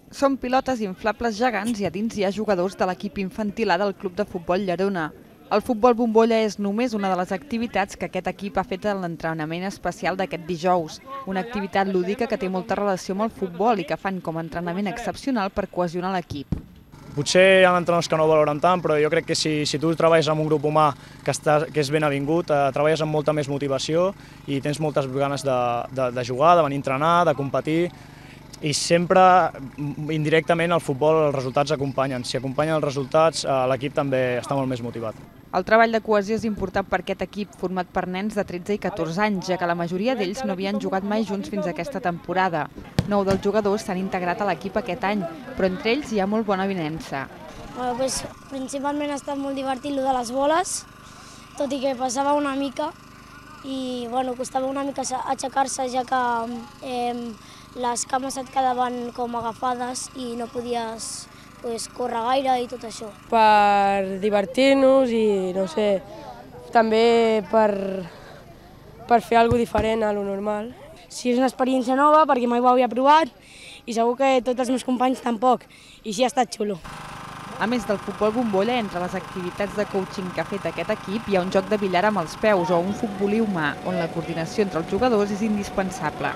Són pilotes inflables gegants i a dins hi ha jugadors de l'equip infantil A del Club de Futbol Llerona. El futbol bombolla és només una de les activitats que aquest equip ha fet en l'entrenament especial d'aquest dijous. Una activitat lúdica que té molta relació amb el futbol i que fan com a entrenament excepcional per cohesionar l'equip. Potser hi ha entrenadors que no ho valoren tant, però jo crec que si tu treballes amb un grup humà que és ben avingut, treballes amb molta més motivació i tens moltes ganes de jugar, de venir a entrenar, de competir, i sempre, indirectament, el futbol, els resultats acompanyen. Si acompanyen els resultats, l'equip també està molt més motivat. El treball de cohesió és important per aquest equip format per nens de 13 i 14 anys, ja que la majoria d'ells no havien jugat mai junts fins a aquesta temporada. 9 dels jugadors s'han integrat a l'equip aquest any, però entre ells hi ha molt bona avinença. Principalment ha estat molt divertit el de les boles, tot i que passava una mica i costava una mica aixecar-se, ja que les cames et quedaven com agafades i no podies córrer gaire i tot això. Per divertir-nos i, no sé, també per fer alguna cosa diferent a lo normal. Sí, és una experiència nova perquè mai ho havia provat i segur que tots els meus companys tampoc, i sí ha estat xulo. A més del futbol bombolla, entre les activitats de coaching que ha fet aquest equip hi ha un joc de billar amb els peus o un futbolí humà, on la coordinació entre els jugadors és indispensable.